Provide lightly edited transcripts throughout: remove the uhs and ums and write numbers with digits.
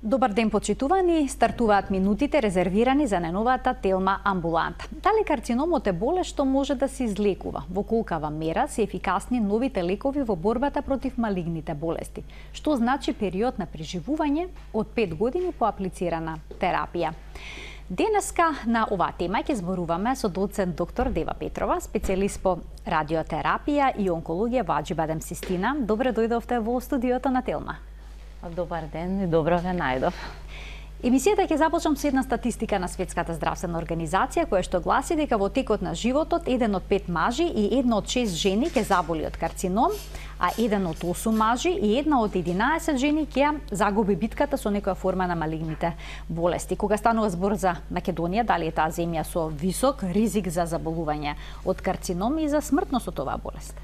Добар ден, почитувани. Стартуваат минутите резервирани за најновата Телма амбуланта. Дали карциномот е болест што може да се излекува? Во колкава мера се ефикасни новите лекови во борбата против малигните болести? Што значи период на преживување од 5 години по аплицирана терапија? Денеска на оваа тема ќе зборуваме со доцент доктор Дева Петрова, специјалист по радиотерапија и онкологија во Аџибадем Систина. Добре дојдовте во студиото на Телма. Добар ден и добро ве најдов. Емисијата ќе започнам со една статистика на Светската здравствена организација, која што гласи дека во текот на животот 1 од 5 мажи и 1 од 6 жени ќе заболи од карцином, а 1 од 8 мажи и 1 од 11 жени ќе загуби битката со некоја форма на малигните болести. Кога станува збор за Македонија, дали е таа земја со висок ризик за заболување од карцином и за смртност од оваа болест?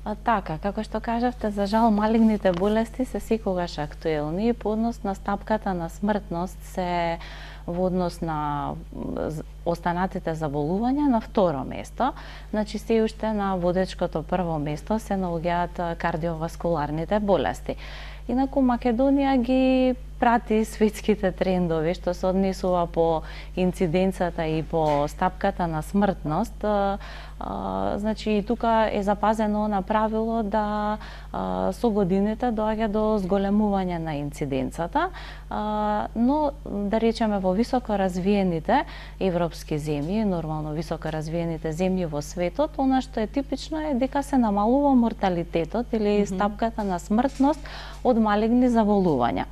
Така, како што кажавте, за жал малигните болести се секогаш актуелни и по однос на стапката на смртност се во однос на останатите заболувања на второ место. Значи се уште на водечкото прво место се наоѓаат кардиоваскуларните болести. Инаку Македонија ги прати светските трендови што се однесува по инциденцата и по стапката на смртност. Значи и тука е запазено на правило да со годините доаѓа до зголемување на инциденцата, но да речеме во високо развиените европски земји, нормално високо развиените земји во светот, она што е типично е дека се намалува морталитетот или стапката на смртност од малигни заболувања.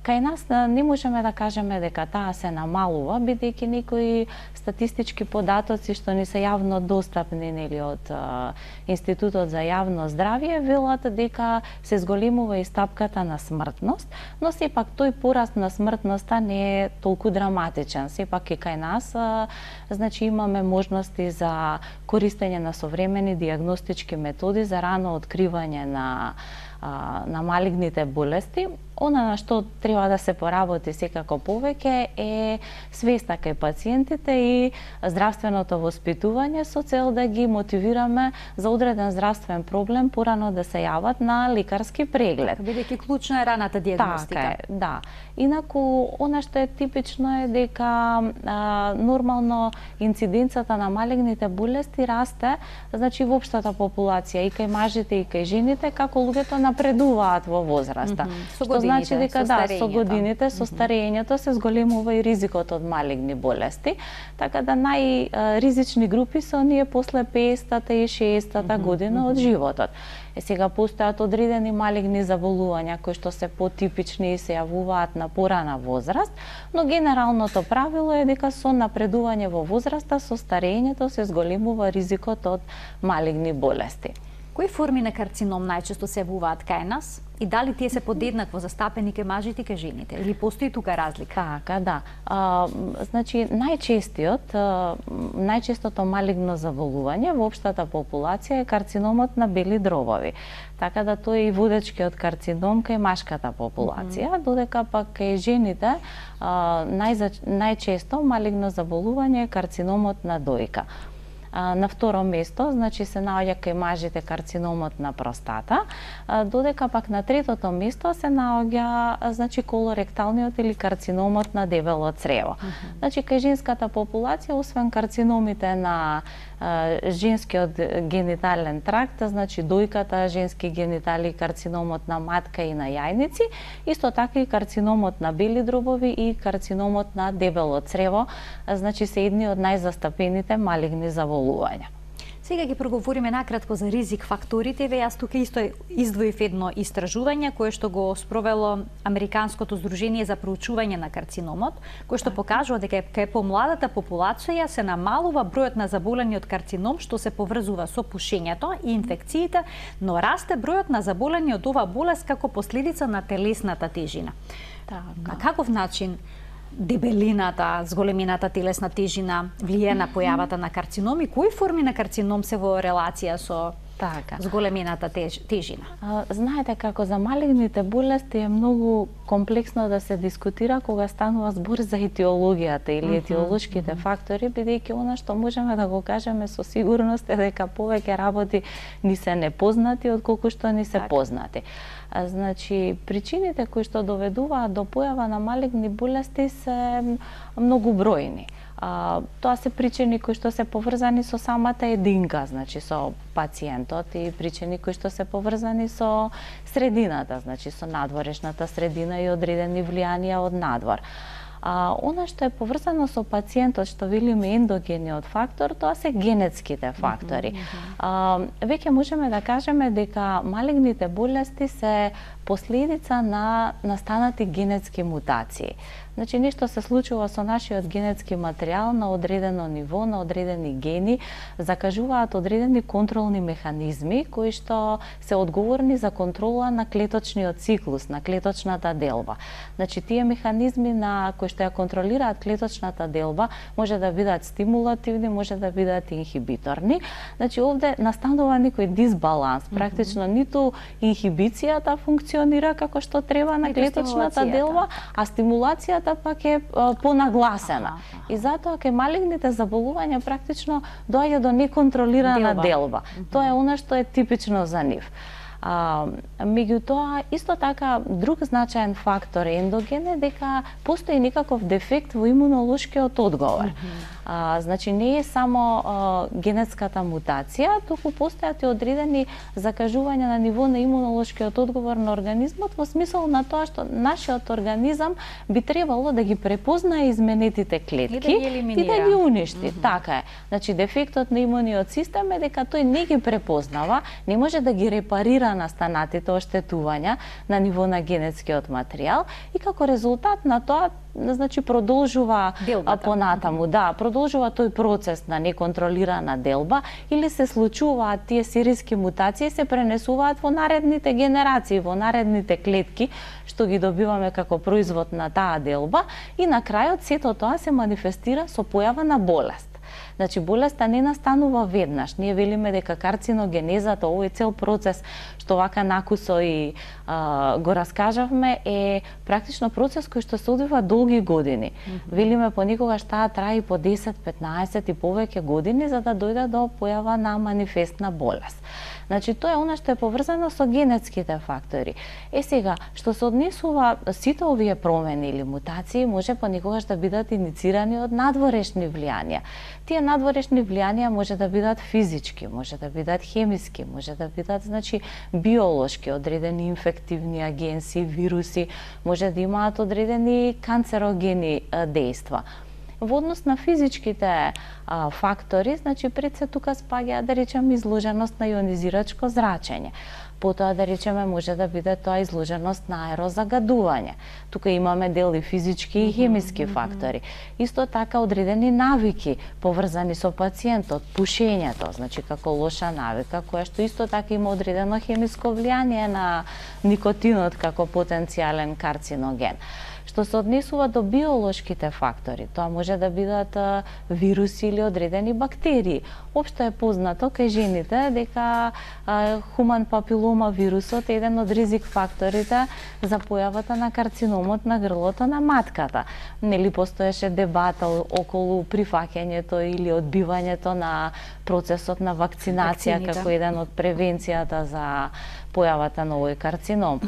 Кај нас не можеме да кажеме дека таа се намалува, бидејќи некои статистички податоци што ни се јавно достапни нели од Институтот за јавно здравје велат дека се зголемува и стапката на смртност, но сепак тој пораст на смртноста не е толку драматичен. Сепак и кај нас значи имаме можности за користење на современи дијагностички методи за рано откривање на малигните болести. Она на што треба да се поработи секако повеќе е свеста кај пациентите и здравственото воспитување со цел да ги мотивираме за одреден здравствен проблем порано да се јават на лекарски преглед. Бидејќи клучна е раната дијагностика. Така е, да. Инаку, она што е типично е дека нормално инциденцата на малигните болести расте, значи во општата популација и кај мажите и кај жените, како луѓето напредуваат во возраста. Што значи дека со годините, со старењето се зголемува и ризикот од малигни болести, така да најризични групи се оние после 50-та и 60-та година од животот. Сега постојат одредени малигни заболувања кои што се потипични и се јавуваат на порана возраст, но генералното правило е дека со напредување во возраста, со старењето се зголемува ризикот од малигни болести. Кои форми на карцином најчесто се јавуваат кај нас и дали тие се подеднакво застапени кај мажите и кај жените или постои тука разлика? Така, да. Значи најчестото малигно заболување во општата популација е карциномот на бели дробови. Така да тој е и водечкиот карцином кај машката популација, додека пак кај жените најчесто малигно заболување е карциномот на дојка. На второ место, значи се наоѓа кај мажите карциномот на простата, додека пак на третото место се наоѓа значи колоректалниот или карциномот на дебело црево. Значи кај женската популација, освен карциномите на женскиот генитален тракт, значи дојката, женски генитали, карциномот на матка и на јајници, исто така и карциномот на бели дробови и карциномот на дебело црево, значи се едни од најзастапените малигни заболувања. Сега ќе проговориме накратко за ризик факторите. Јас тука исто издвоив едно истражување кое што го спровело Американското здружение за проучување на карциномот, кое што покажува дека кај помладата популација се намалува бројот на заболени од карцином што се поврзува со пушењето и инфекциите, но расте бројот на заболени од оваа болест како последица на телесната тежина. На каков начин дебелината, зголемината телесна тежина влијае на појавата на карцином и кои форми на карцином се во релација со зголемената тежина. Знаете како за малигните болести е многу комплексно да се дискутира кога станува збор за етиологијата или етиолошките фактори, бидејќи она што можеме да го кажеме со сигурност е дека повеќе работи ни се непознати отколку што ни се познати. Значи, причините кои што доведуваат до појава на малигни болести се многу бројни. Тоа се причини кои што се поврзани со самата единка, значи со пациентот, и причини кои што се поврзани со средината, значи со надворешната средина и одредени влијанија од надвор. Она што е поврзано со пациентот, што велиме ендогениот фактор, тоа се генетските фактори. Веќе можеме да кажеме дека малигните болести се последица на настанати генетски мутации. Значи, нешто се случува со нашиот генетски материјал на одредено ниво, на одредени гени, закажуваат одредени контролни механизми кои што се одговорни за контрола на клеточниот циклус, на клеточната делба. Значи, тие механизми на кои што ја контролираат клеточната делба може да бидат стимулативни, може да бидат инхибиторни. Значи, овде настанува некој дисбаланс, практично ниту инхибицијата функционира како што треба на клеточната делба, а стимулацијата пак е понагласена. И затоа кај малигните заболувања практично доаѓа до неконтролирана делба. Тоа е она што е типично за нив. Меѓутоа, исто така, друг значаен фактор ендоген е дека постои некаков дефект во имунолошкиот одговор. Значи, не е само генетската мутација, туку постојат и одредени закажувања на ниво на имунолошкиот одговор на организмот, во смисол на тоа што нашиот организам би требало да ги препознае изменетите клетки и да ги уништи. Така е. Значи, дефектот на имуниот систем е дека тој не ги препознава, не може да ги репарира настанатите оштетувања на ниво на генетскиот материјал и како резултат на тоа, значи, продолжува понатаму, продолжува тој процес на неконтролирана делба или се случуваат тие сериски мутации, се пренесуваат во наредните генерации, во наредните клетки што ги добиваме како производ на таа делба и на крајот сето тоа се манифестира со појава на болест. Значи, болеста не настанува веднаш. Ние велиме дека карциногенезата, овој цел процес што вака накусо и го раскажавме, е практично процес кој што се одвива долги години. Велиме понекогаш таа трае и по 10, 15 и повеќе години за да дојде до појава на манифестна болест. Значи, тоа е она што е поврзано со генетските фактори. Сега, што се однесува сите овие промени или мутации, може понекогаш да бидат иницирани од надворешни влијанија. Тие надворешни влијанија може да бидат физички, може да бидат хемиски, може да бидат, значи, биолошки, одредени инфективни агенси, вируси, може да имаат одредени канцерогени дејства. Во однос на физичките фактори, значи, пред се тука спаѓа, да речеме, изложеност на ионизирачко зрачење. Потоа, да речеме, може да биде тоа изложеност на аерозагадување. Тука имаме дел и физички и хемиски фактори. Исто така одредени навики поврзани со пациентот, пушењето, значи како лоша навика, која што исто така има одредено хемиско влијание на никотинот како потенцијален карциноген. Што се однесува до биолошките фактори, тоа може да бидат вируси или одредени бактерии. Општо е познато кај жените дека хуман папилома вирусот е еден од ризик факторите за појавата на карциномот на грлото на матката. Нели постоеше дебата околу прифаќањето или одбивањето на процесот на вакцинација како еден од превенцијата за појавата на овој карцином.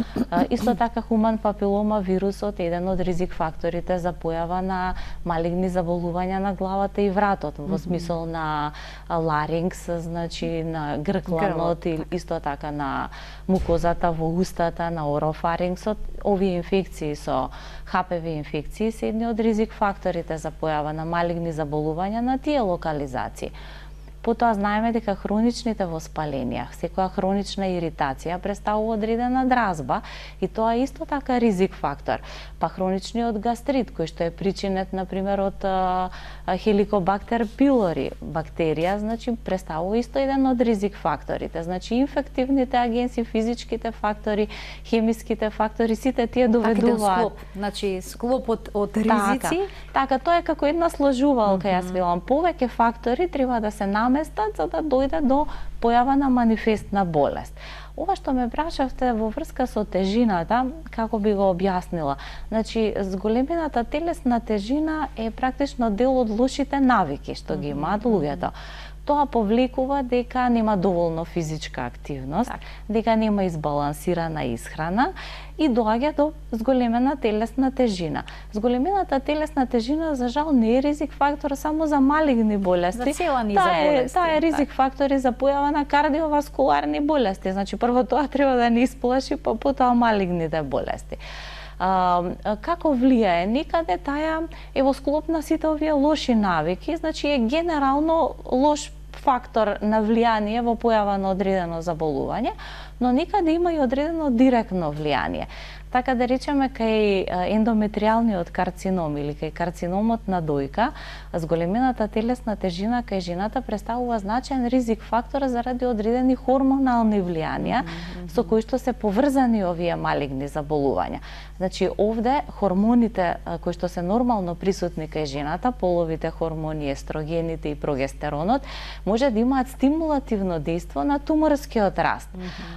Исто така хуман папилома вирусот е еден од ризик факторите за појава на малигни заболувања на главата и вратот, во смисол на ларингс, значи на гркланот и исто така на мукозата во устата, на орофарингсот. Овие инфекции со HPV инфекции се едни од ризик факторите за појава на малигни заболувања на тие локализации. Потоа знаеме дека хроничните воспаленија, секоја хронична иритација представува одредена дразба и тоа е исто така ризик фактор. Па хроничниот гастрит, кој што е причинет, например, од Helicobacter pylori бактерија, значи представува исто еден од ризик факторите. Значи инфективните агенси, физичките фактори, хемиските фактори, сите тие доведуваат. Значи склоп од ризици. Така, тоа е како една сложувалка, јас велам. Повеќе фактори треба да се наместат за да дојде до појава на манифестна болест. Ова што ме прашавте во врска со тежината, како би го објаснила? Значи, зголемената телесна тежина е практично дел од лошите навики што ги имаат луѓето. Тоа повлекува дека нема доволно физичка активност, дека нема избалансирана исхрана и доаѓа до зголемена телесна тежина. Зголемената телесна тежина, за жал, не е ризик фактор само за малигни болести. За цела низа болести. Таа е ризик фактор и за појава на кардиоваскуларни болести. Значи, прво тоа треба да не исплаши, па потоа малигните болести. Како влијае? Никаде таа е во склоп на сите овие лоши навики, значи е генерално лош фактор на влијание во појава на одредено заболување, но никаде има и одредено директно влијание. Така да речеме, кај ендометриалниот карцином или кај карциномот на дојка, зголемената телесна тежина кај жената представува значаен ризик фактор заради одредени хормонални влијанија со кои што се поврзани овие малигни заболувања. Значи, овде хормоните кои што се нормално присутни кај жената, половите хормони, естрогените и прогестеронот, може да имаат стимулативно дејство на туморскиот раст.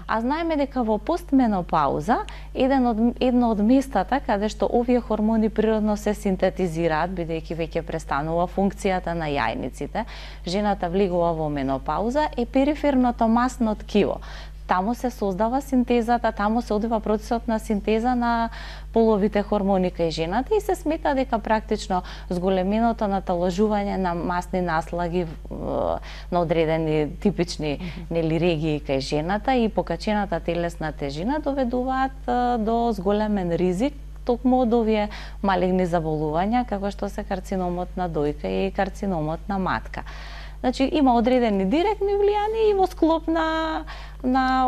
А знаеме дека во постменопауза едно од местата каде што овие хормони природно се синтетизираат, бидејќи веќе престанува функцијата на јајниците, жената влегува во менопауза, е периферното масно ткиво. Таму се создава синтезата, таму се одвива процесот на синтеза на половите хормони кај жената и се смета дека практично зголеменото наталожување на масни наслаги на одредени типични регии кај жената и покачената телесна тежина доведуваат до зголемен ризик токму од овие малигни заболувања, како што се карциномот на дојка и карциномот на матка. Значи, има одредени директни влијанија и во склоп на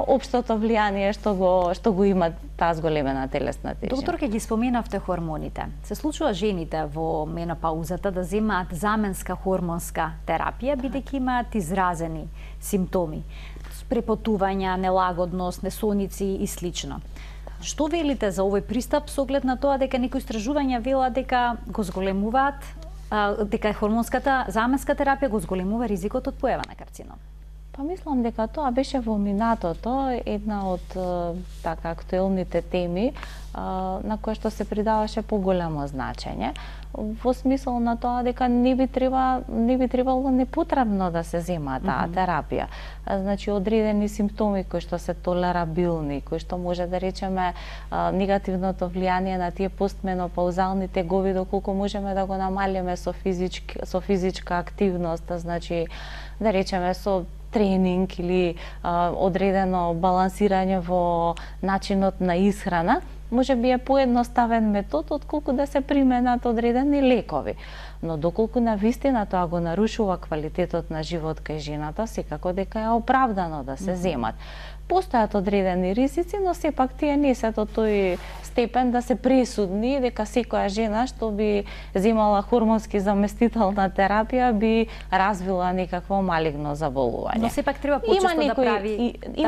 општото влијание што го има таа зголемена телесна тежина. Доктор, ке ги споменавте хормоните. Се случува жените во менопаузата да земаат заменска хормонска терапија, бидејќи имаат изразени симптоми, препотувања, нелагодност, несоници и слично. Што велите за овој пристап со оглед на тоа дека некои истражувања велат дека го зголемуваат, дека хормонската заменска терапија го зголемува ризикот од појава на карцином? Па мислам дека тоа беше во минатото една од така актуелните теми на која што се придаваше поголемо значење, во смисол на тоа дека не би требало непотребно да се зема таа терапија. Значи, одредени симптоми кои што се толерабилни, кои што може да речеме негативното влијание на тие постменопаузални тегови, доколку можеме да го намалиме со физичка активност, значи да речеме со тренинг или одредено балансирање во начинот на исхрана, може би е поедноставен метод отколку да се применат одредени лекови. Но доколку навистина тоа го нарушува квалитетот на живот кај жената, секако дека е оправдано да се земат. Постојат одредени ризици, но сепак тие не се до тој степен да се пресудни дека секоја жена што би земала хормонски заместителна терапија би развила некакво малигно заболување. Но сепак треба почесто да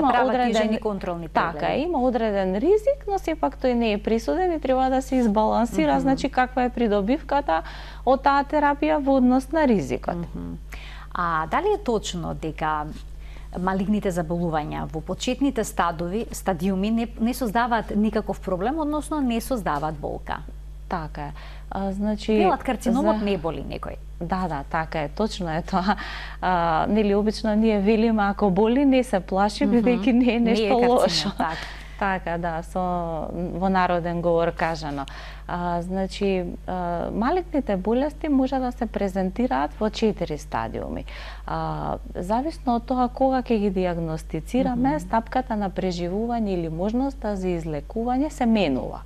прават жени контролни прегледи. Така, има одреден ризик, но сепак тој не е присуден и треба да се избалансира, значи каква е придобивката од таа терапија во однос на ризикот. А дали е точно дека малигните заболувања во почетните стадиуми не создаваат никаков проблем, односно не создаваат болка? Така е. Значи, велат карциномот не боли некој. Да, така е, точно е тоа. Нели обично ние велиме ако боли не се плаши, бидејќи не е нешто лошо. Така, да, во народен говор кажано. Значи, малигните болести може да се презентираат во 4 стадиуми. Зависно од тоа кога ќе ги диагностицираме, стапката на преживување или можноста за излекување се менува.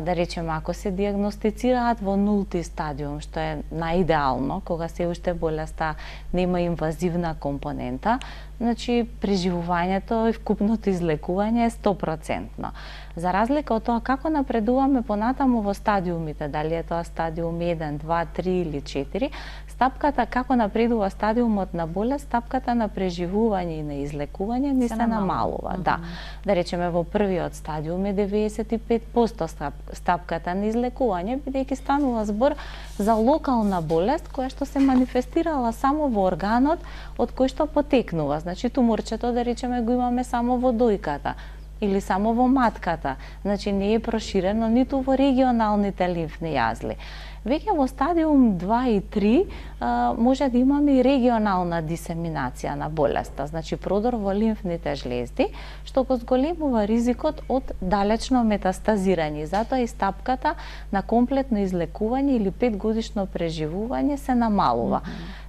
Да речеме, ако се диагностицираат во нулти стадиум, што е наидеално, кога се уште болеста нема инвазивна компонента, значи преживувањето и вкупното излекување е 100%. За разлика од тоа како напредуваме понатаму во стадиумите, дали е тоа стадиум 1, 2, 3 или 4, стапката како напредува стадиумот на болест, стапката на преживување и на излекување не се намалува. Да. Да речеме во првиот стадиум е 95% стапката на излекување, бидејќи станува збор за локална болест која што се манифестирала само во органот од кој што потекнува. Значи туморчето да речеме го имаме само во дојката или само во матката. Значи не е проширено ниту во регионалните лимфни јазли. Веќе во стадиум 2 и 3 може да имаме и регионална дисеминација на болеста, значи продор во лимфните жлезди, што го зголемува ризикот од далечно метастазирање. Затоа и стапката на комплетно излекување или 5-годишно преживување се намалува.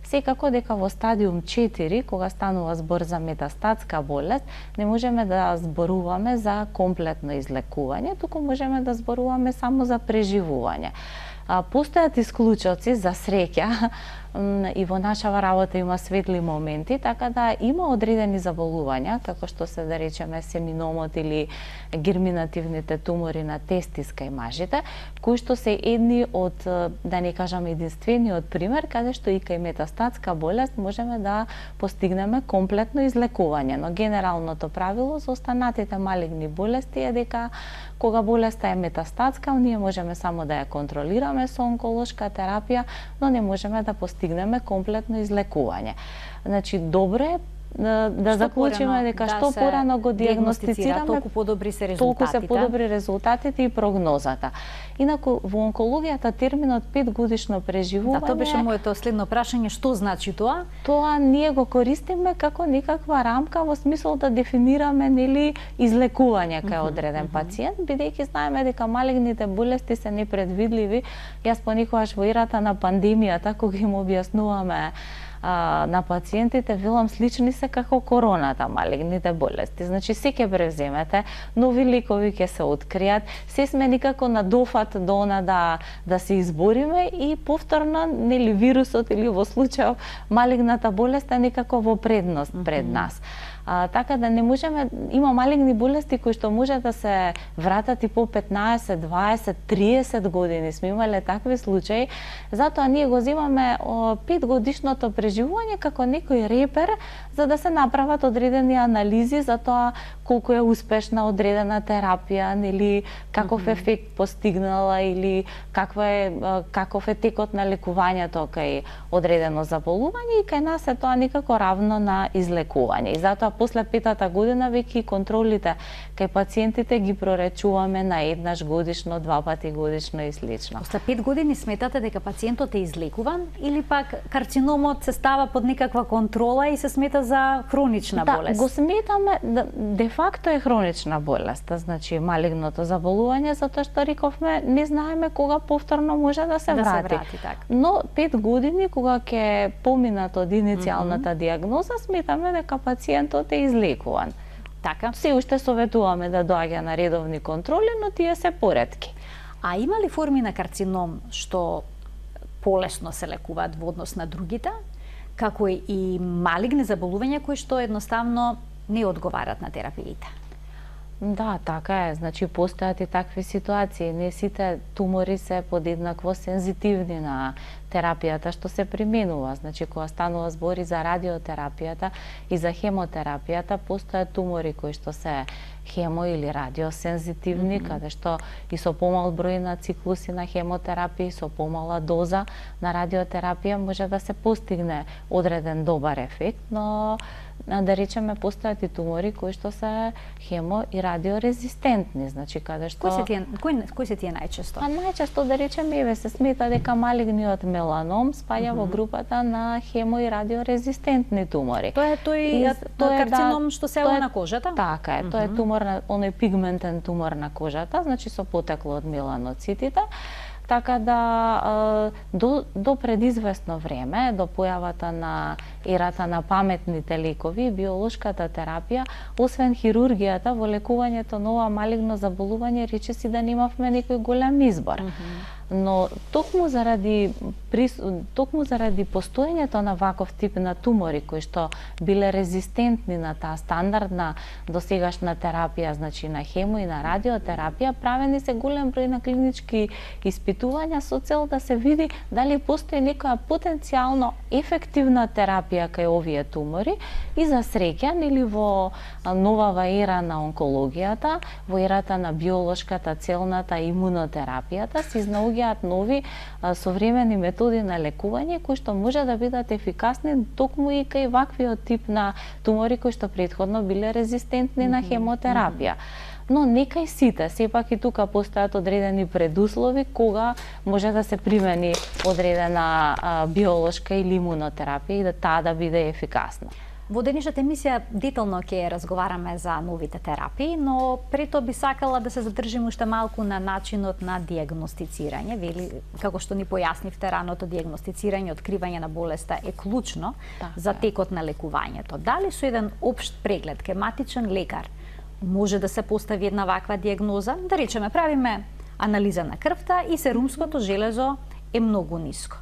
Секако дека во стадиум 4, кога станува збор за метастатска болест, не можеме да зборуваме за комплетно излекување, туку можеме да зборуваме само за преживување. Постојат исклучоци, за среќа, и во нашава работа има светли моменти, така да има одредени заболувања, како што се да речеме семиномот или герминативните тумори на тестиска и мажите, кои што се едни од, да не кажам единствениот пример, каде што и кај метастатска болест можеме да постигнеме комплетно излекување. Но генералното правило за останатите малигни болести е дека кога болеста е метастатска, ние можеме само да ја контролираме со онколошка терапија, но не можеме да постигнеме комплетно излекување. Значи, добро е да заклучиме дека што порано го диагностицираме, толку подобри се резултатите. Толку се подобри резултатите и прогнозата. Инаку во онкологијата терминот 5-годишно преживување. Да, тоа беше моето следно прашање, што значи тоа? Тоа ние го користиме како некаква рамка во смисол да дефинираме нели излекување кај одреден пациент, бидејќи знаеме дека малигните болести се непредвидливи. Јас понекогаш во ерата на пандемијата кога им објаснуваме на пациентите, велам слични се како короната, малигните болести. Значи, се ќе превземете, нови лекови ќе се откријат, се сме никако на дофат до она да се избориме и повторно, нели, вирусот или во случајов малигната болест е некако во предност пред нас. Така да не можеме, има малигни болести кои што може да се вратат и по 15, 20, 30 години. Сме имале такви случаи, затоа ние го земаме 5-годишното преживување како некој репер за да се направат одредени анализи за тоа колку е успешна одредена терапија, нели каков ефект постигнала или каков е текот на лекувањето кај одредено заболување и кај нас е тоа некако равно на излекување. И затоа после 5-та година веќе контролите кај пациентите ги проречуваме на еднаш годишно, 2 пати годишно и слично. После 5 години сметате дека пациентот е излекуван или пак карциномот се става под некаква контрола и се смета за хронична болест? Да, го сметаме, де факто е хронична болест, значи малигното заболување, затоа што рековме не знаеме кога повторно може да се врати. Но 5 години кога ќе поминат од иницијалната диагноза, сметаме дека пациентот е излекуван. Така. Се уште советуваме да доаѓа на редовни контроли, но тие се поретки. А има ли форми на карцином што полесно се лекуваат во однос на другите, како и малигни заболувања кои што едноставно не одговарат на терапиите? Да, така е. Значи, постојат и такви ситуации. Не сите тумори се подеднакво сензитивни на терапијата што се применува. Значи, кога станува збори за радиотерапијата и за хемотерапијата, постојат тумори кои што се хемо или радиосензитивни, каде што и со помал број на циклуси на хемотерапија и со помала доза на радиотерапија може да се постигне одреден добар ефект, но да речеме постојат и тумори кои што се хемо и радиорезистентни, значи каде што кои се тие најчесто? Најчесто да речеме се смета дека малигниот меланом спаѓа во групата на хемо и радиорезистентни тумори. Тоа е тој карцином што се на кожата? Така е, тоа е тумор на оној пигментен тумор на кожата, значи со потекло од меланоцитите. Така да до предизвестно време, до појавата на ерата на паметните лекови и биолошката терапија, освен хирургијата во лекувањето на ова малигно заболување, речиси да немавме некој голем избор. Но токму заради постоењето на ваков тип на тумори кои што биле резистентни на таа стандардна досегашна терапија, значи на хемо и на радиотерапија, правени се голем број на клинички испитувања со цел да се види дали постои некоја потенцијално ефективна терапија кај овие тумори. И за среќа, нели во новава ера на онкологијата, во ерата на биолошката, целната и имунотерапијата се изнаоѓаат нови современи методи на лекување кои што може да бидат ефикасни токму и кај ваквиот тип на тумори кои што претходно биле резистентни на хемотерапија. Но некај сите, сепак и тука постојат одредени предуслови кога може да се примени одредена биолошка или имунотерапија и да таа да биде ефикасна. Во денешната емисија детално ќе разговараме за новите терапии, но пред тоа би сакала да се задржиме уште малку на начинот на дијагностицирање. Вели, како што ни појаснивте, раното дијагностицирање, откривање на болеста е клучно за текот на лекувањето. Дали со еден општ преглед кај матичен лекар може да се постави една ваква дијагноза? Да речеме, правиме анализа на крвта и серумското железо е многу ниско.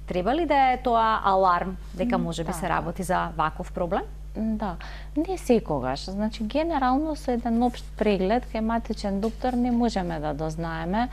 Треба ли да е тоа аларм дека може би се работи за ваков проблем? Да, не секогаш. Значи, генерално со еден општ преглед кај матичен доктор не можеме да дознаеме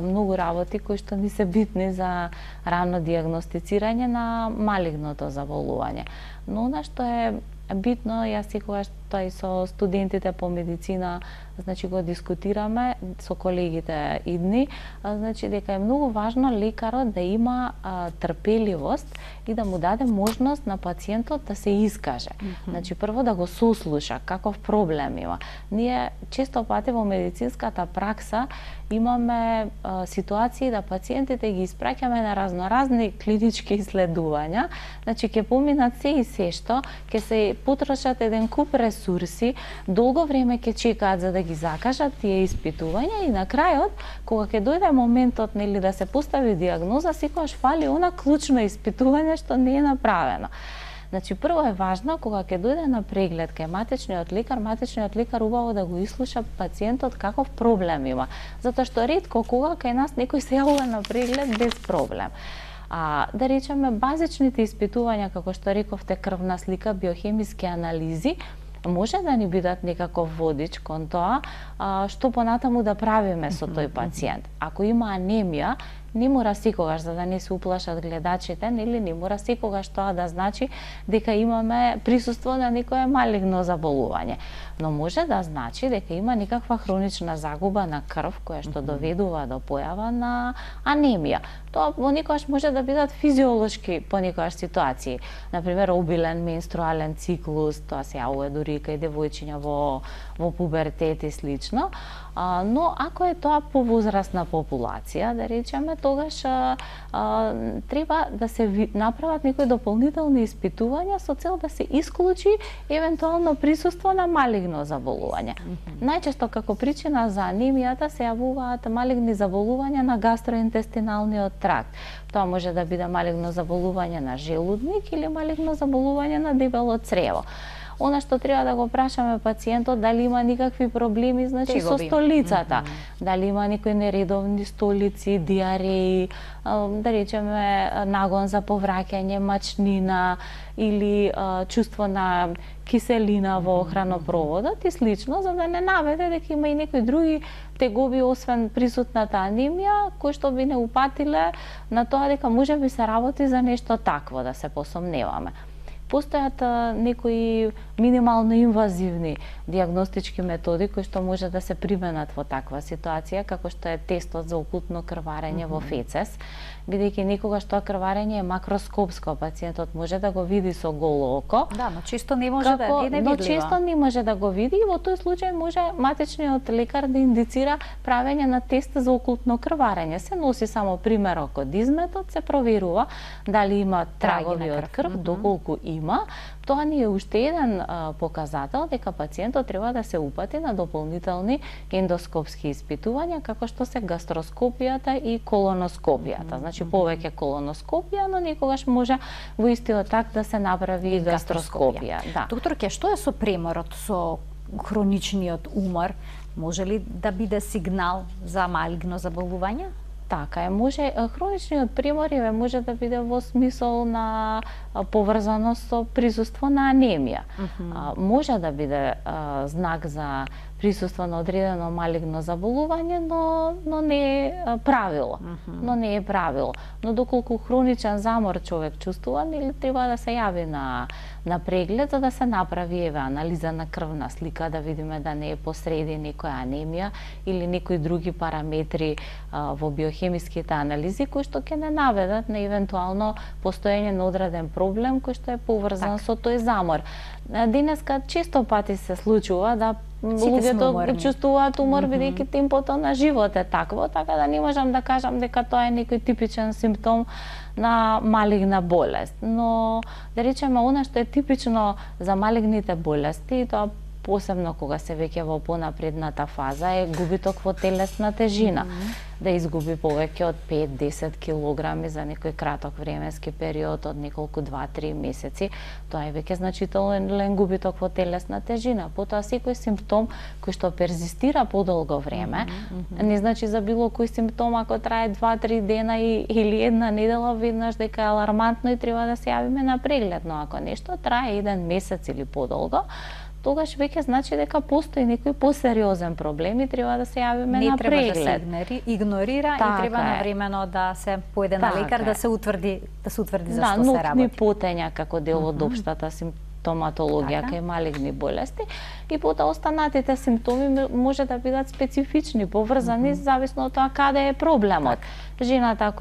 многу работи кои што ни се битни за рано дијагностицирање на малигното заболување. Но она што е битно, јас секогаш тоа и со студентите по медицина, значи го дискутираме со колегите идни, значи дека е многу важно лекарот да има трпеливост и да му даде можност на пациентот да се искаже. Значи прво да го сослуша каков проблем има. Ние често пати во медицинската пракса имаме ситуации да пациентите ги испраќаме на разноразни клинички исследувања, значи ќе поминат се и се што, ќе се потрошат еден куп ресурси, долго време ќе чекаат за да ги закажат тие испитувања и на крајот, кога ќе дојде моментот нели да се постави дијагноза, секогаш фали она клучно испитување што не е направено. Значи прво е важно кога ќе дојде на преглед кај матичниот лекар убаво да го ислуша пациентот каков проблем има, затоа што ретко кога кај нас некој се јавува на преглед без проблем. Да речеме базичните испитувања, како што рековте, крвна слика, биохемиски анализи, може да ни бидат некаков водич кон тоа што понатаму да правиме со тој пациент. Ако има анемија, не мора секогаш, за да не се уплашат гледачите, нели не мора секогаш тоа да значи дека имаме присуство на некое малигно заболување. Но може да значи дека има некаква хронична загуба на крв која што доведува до појава на анемија. Тоа понекогаш може да бидат физиолошки понекогаш ситуации. Например, обилен менструален циклус, тоа се јавува дури кај девојчиња во пубертет и слично. Но ако е тоа по возрастна популација, да речеме, тогаш треба да се направат некои дополнителни испитувања со цел да се исклучи евентуално присуство на малигно заболување. Најчесто како причина за анемијата се јавуваат малигни заболувања на гастроинтестиналниот тракт. Тоа може да биде малигно заболување на желудник или малигно заболување на дебело црево. Она што треба да го прашаме пациентот дали има никакви проблеми, значи со столицата, дали има некои нередовни столици, диареи, да речеме нагон за повраќање, мачнина или чувство на киселина во хранопроводот и слично, за да не наведе дека има и некои други тегоби освен присутната анемија, кои што би не упатиле на тоа дека може би се работи за нешто такво, да се посомневаме. Постојат некои минимално инвазивни дијагностички методи кои што може да се применат во таква ситуација, како што е тестот за окултно крварење во фецес, бидејќи некогаш тоа крварење е макроскопско, пациентот може да го види со голо око. Да, но често не може да е невидливо. Но често не може да го види и во тој случај може матичниот лекар да индицира правење на тест за окултно крварење. Се носи само примерок од изметот, се проверува дали има трагови од крв, доколку има. Тоа ни е уште еден показател дека пациентот треба да се упати на дополнителни ендоскопски испитувања, како што се гастроскопијата и колоноскопијата. Значи повеќе колоноскопија, но некогаш може во истиот так да се направи и гастроскопија. Да. Докторке, што е со преморот, со хроничниот умор? Може ли да биде сигнал за малигно заболување? Така е, може хроничниот премор може да биде во смисол на поврзаност со присуство на анемија. Може да биде знак за присуство на одредено малигно заболување, но не е правило. Но доколку хроничен замор човек чувствува, нели треба да се јави на преглед за да се направи анализа на крвна слика, да видиме да не е посреди некоја анемија или некои други параметри во биохемиските анализи кои што ќе не наведат на евентуално постоење на одреден проблем кој што е поврзан со тој замор. Денеска често пати се случува да луѓето чувствуваат умор бидејќи темпото на живот е такво, така да не можам да кажам дека тоа е некој типичен симптом на малигна болест. Но да речеме она што е типично за малигните болести, тоа посебно кога се веќе во понапредната фаза е губиток во телесна тежина. Да изгуби повеќе од 5-10 килограми за некој краток временски период од неколку 2-3 месеци. Тоа е веќе значителен губиток во телесна тежина. Потоа секој симптом кој што перзистира подолго време, не значи за било кој симптом ако трае 2-3 дена или една недела веднаш дека е алармантно и треба да се јавиме на преглед, но ако нешто трае 1 месец или подолго, тогаш веќе значи дека постои некој посериозен проблем и треба да се јавиме на преглед. Не треба да се игнорира и треба навремено да се појде на лекар да се утврди зашто се работи. Нуктни потења како дел од општата симптоматологија кај малигни болести и потоа останатите симптоми може да бидат специфични, поврзани зависно од тоа каде е проблемот. Жената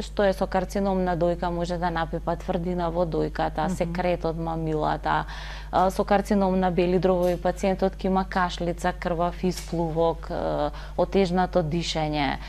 што е со карцином на дојка може да напипа тврдина во дојката, секрет од мамилата, со карцином на бели дробови пациентот ќе има кашлица, крвав исплувок, отежнато дишење,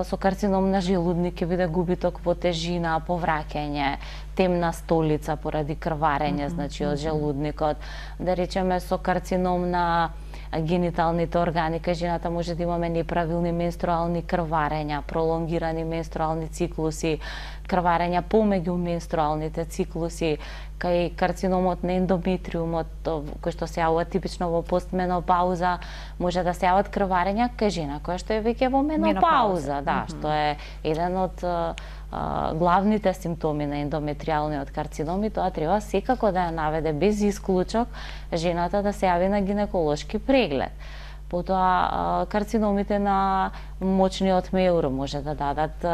со карцином на желудник ќе биде губиток во тежина, повраќање, темна столица поради крварење, значи од желудникот, да речеме со карцином на гениталните органи, кај жената може да имаме неправилни менструални крварења, пролонгирани менструални циклуси, крварења помеѓу менструалните циклуси, кај карциномот на ендометриумот, кој што се јавува типично во постменопауза, може да се јават крварења кај жена која што е веќе во менопауза, што е еден од главните симптоми на ендометриалниот карцином и тоа треба секако да ја наведе без исклучок жената да се јави на гинеколошки преглед. Потоа карциномите на мочниот меур може да дадат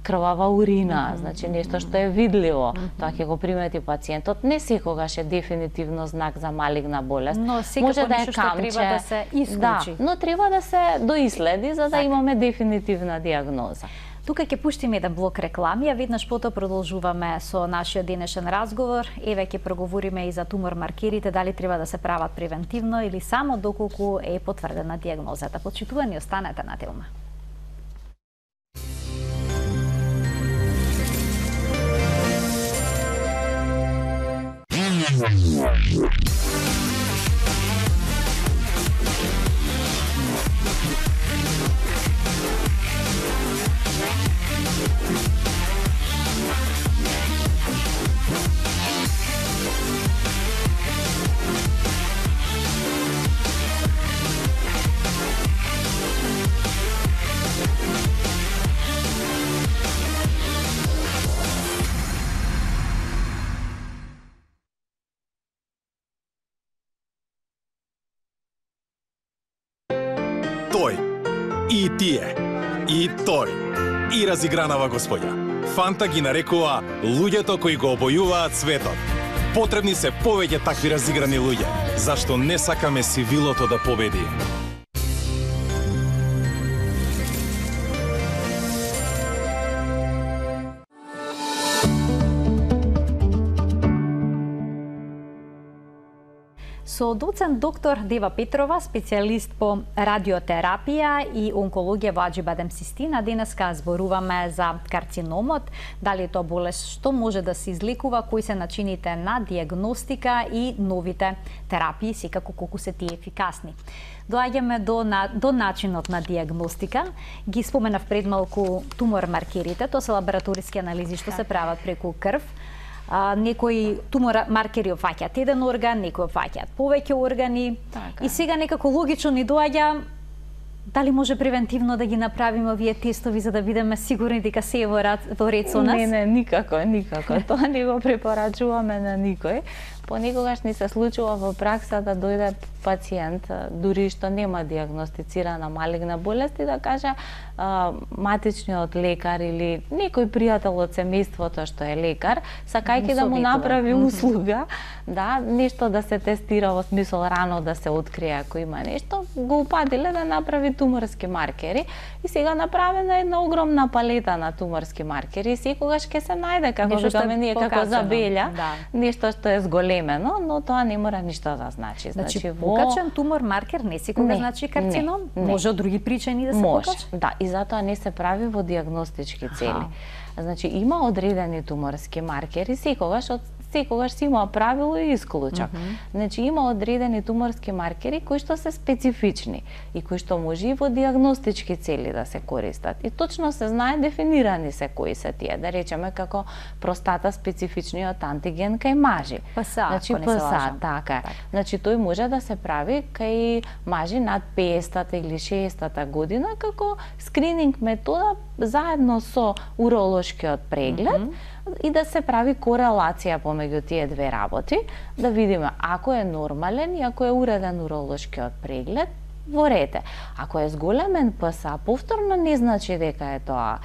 крвава урина, значи нешто што е видливо. Тоа ќе го примети пациентот. Не секогаш е дефинитивно знак за малигна болест. Но може да е камче, треба да се исклучи. Да, но треба да се доиследи за да имаме дефинитивна диагноза. Тука ќе пуштиме еден блок реклами, а веднаш потоа продолжуваме со нашиот денешен разговор. Еве ќе проговориме и за тумор маркерите, дали треба да се прават превентивно или само доколку е потврдена диагнозата. Почитувани, останете на Телма. Тој, и тие, и тој, и разигранава господја. Фанта ги нарекува луѓето кои го обојуваат светот. Потребни се повеќе такви разиграни луѓе, зашто не сакаме сивилото да победи. Со доцент доктор Дева Петрова, специјалист по радиотерапија и онкологија во Аџибадем Систина, денеска зборуваме за карциномот, дали е тоа болест што може да се излекува, кои се начините на диагностика и новите терапии, секако колку се тие ефикасни. Доаѓаме до начинот на диагностика. Ги споменав пред малку тумор маркерите, тоа се лабораториски анализи што се прават преку крв. Некои тумор маркери опфаќаат еден орган, некои опфаќаат повеќе органи. И сега некако логично ни доаѓа Дали може превентивно да ги направиме овие тестови за да бидеме сигурни дека се е во ред со нас? Не, никако. Тоа не го препорачуваме на никој. Понекогаш ни се случува во пракса да дојде пациент, дури што нема дијагностицирана малигна болест и да каже матичниот лекар или некој пријател од семејството што е лекар, сакајќи да му направи услуга, да, нешто да се тестира во смисол рано да се открие ако има нешто, го упадиле да направи туморски маркери и сега направена една огромна палета на туморски маркери и секогаш ќе се најде како викаме ние како забелја, нешто што е зголемено, но тоа не мора ништо да значи. Значи покачен тумор маркер не секогаш значи карцином, може од други причини да се покачи. Да, и затоа не се прави во дијагностички цели. Значи има одредени туморски маркери, секогаш си има правило и исклучок. Значи има одредени туморски маркери кои што се специфични и кои што може и во дијагностички цели да се користат. И точно се знае дефинирани се кои се тие, да речеме како простата специфичниот антиген кај мажи. ПСА, значи ПСА, така. Значи тој може да се прави кај мажи над 50-та или 60-та година како скрининг метода заедно со уролошкиот преглед и да се прави корелација помеѓу тие две работи, да видиме ако е нормален и ако е уреден уролошкиот преглед, во ред е. Ако е зголемен ПСА, повторно не значи дека е тоа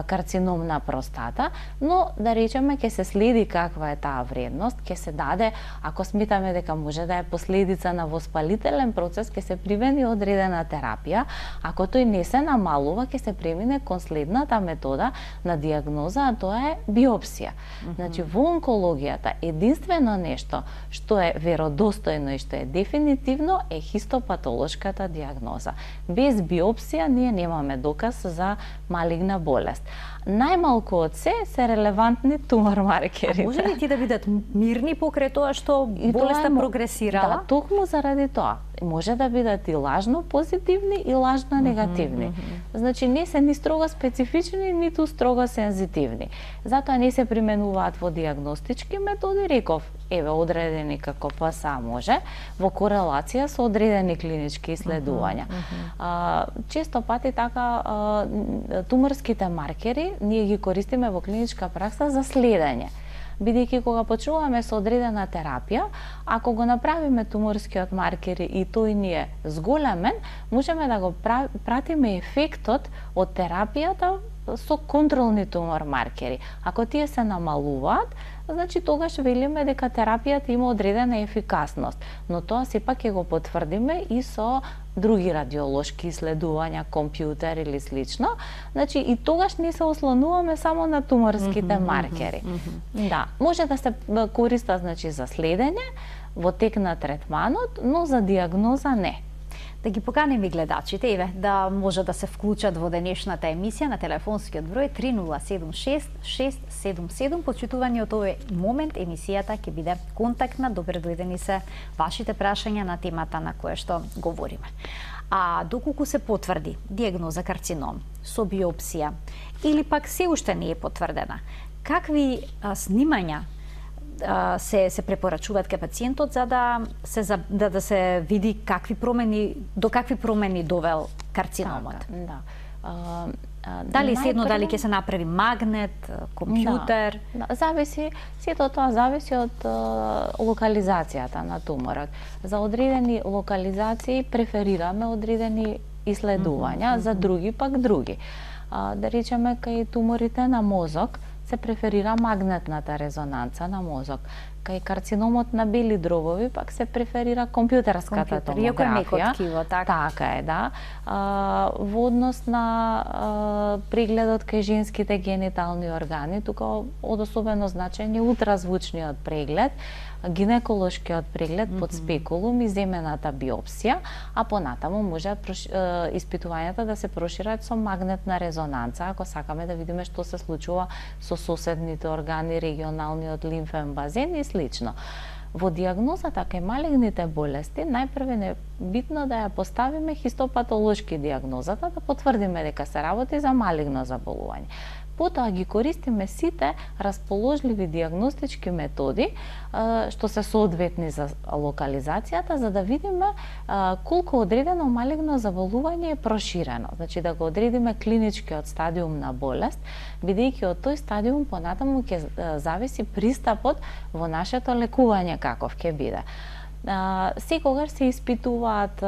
карцином на простата, но да речеме ќе се следи каква е таа вредност, ќе се даде, ако сметаме дека може да е последица на воспалителен процес, ќе се примени одредена терапија, ако тој не се намалува, ќе се премине кон следната метода на дијагноза, а тоа е биопсија. Значи во онкологијата единствено нешто што е веродостојно и што е дефинитивно е хистопатолошката дијагноза. Без биопсија ние немаме доказ за малигна болест. Најмалку од се релевантни тумор маркери. А може ли ти да бидат мирни покрај тоа што болеста прогресирала? Да, токму заради тоа. Може да бидат и лажно позитивни и лажно негативни. Значи не се ни строго специфични, ниту строго сензитивни. Затоа не се применуваат во дијагностички методи, реков, еве одредени како ПСА може, во корелација со одредени клинички исследувања. Често пати така туморските маркери ние ги користиме во клиничка пракса за следење. Бидејќи кога почнуваме со одредена терапија, ако го направиме туморскиот маркер и тој ни е зголемен, можеме да го пратиме ефектот од терапијата со контролни тумор маркери. Ако тие се намалуваат, значи тогаш велиме дека терапијата има одредена ефикасност, но тоа сепак ќе го потврдиме и со други радиолошки исследувања, компјутер или слично. Значи и тогаш не се ослонуваме само на туморските маркери. Да, може да се користа значи за следење во тек на третманот, но за дијагноза не. Да ги поканим и гледачите, еве, да може да се вклучат во денешната емисија на телефонскиот број 3076-677. Почитувани од овој момент, емисијата ќе биде контактна, добре дојдени се вашите прашања на темата на која што говориме. А доколку се потврди дијагноза карцином со биопсија или пак се уште не е потврдена, какви снимања се препорачуваат кај пациентот за да се види до какви промени довел карциномот? Да. Дали седно, дали ќе се направи магнет, компјутер? Да, зависи, сето тоа зависи од локализацијата на туморот. За одредени локализации преферираме одредени исследувања, за други пак други. Да речеме кај туморите на мозок се преферира магнетната резонанца на мозок. Кај карциномот на бели дробови пак се преферира компјутерската томографија. Така е, да. Во однос на прегледот кај женските генитални органи, тука од особено значење ултразвучниот преглед, гинеколошкиот преглед под спекулум и земената биопсија, а понатаму може испитувањата да се прошират со магнетна резонанца, ако сакаме да видиме што се случува со соседните органи, регионалниот лимфен базен и слично. Во дијагнозата кај малигните болести, најпрво е битно да ја поставиме хистопатолошки дијагнозата, да потврдиме дека се работи за малигно заболување. потоа ги користиме сите расположливи дијагностички методи што се соодветни за локализацијата, за да видиме колку одредено малигно заболување е проширено. Значи да го одредиме клиничкиот стадиум на болест, бидејќи од тој стадиум понатаму ќе зависи пристапот во нашето лекување каков ќе биде. Секогаш се испитуваат,